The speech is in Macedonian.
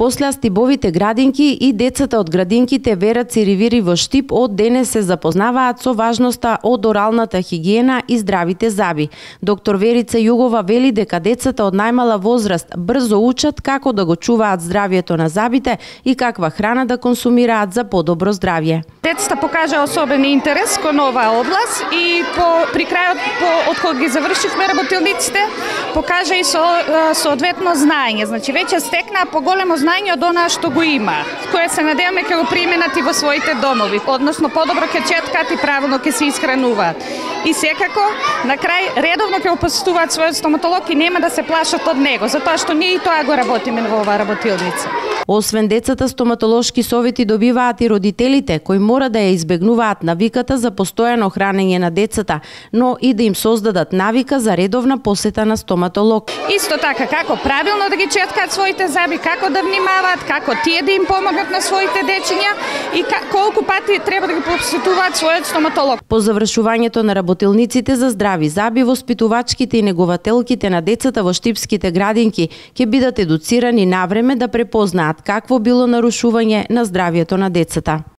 После астибовите градинки и децата од градинките Вера Циривири во Штип од денес се запознаваат со важноста од оралната хигиена и здравите заби. Доктор Верица Југова вели дека децата од најмала возраст брзо учат како да го чуваат здравието на забите и каква храна да консумираат за подобро здравје. Децата покажа особен интерес кон оваа област и при крајот од кога ги завршивме работилниците покажа и соодветно знаење. Значи веќе стекнаа поголемо знаење од она што го има, кое се надеваме ќе го применат и во своите домови, односно подобро ќе четкаат и правилно ќе се исхрануваат. И секако на крај редовно ќе го посетуваат својот стоматолог и нема да се плашат од него, затоа што ние и тоа го работиме во оваа работилница. Освен децата, стоматолошки совети добиваат и родителите, кои мора да ја избегнуваат навиката за постојано хранење на децата, но и да им создадат навика за редовна посета на стоматолог. Исто така, како правилно да ги четкаат своите заби, како да внимаваат, како тие да им помогнат на своите дечиња и колку пати треба да ги посетуваат својот стоматолог. По завршувањето на работилниците за здрави заби, воспитувачките и негователките на децата во штипските градинки ќе бидат едуцирани навреме да препознаат какво било нарушување на здравието на децата.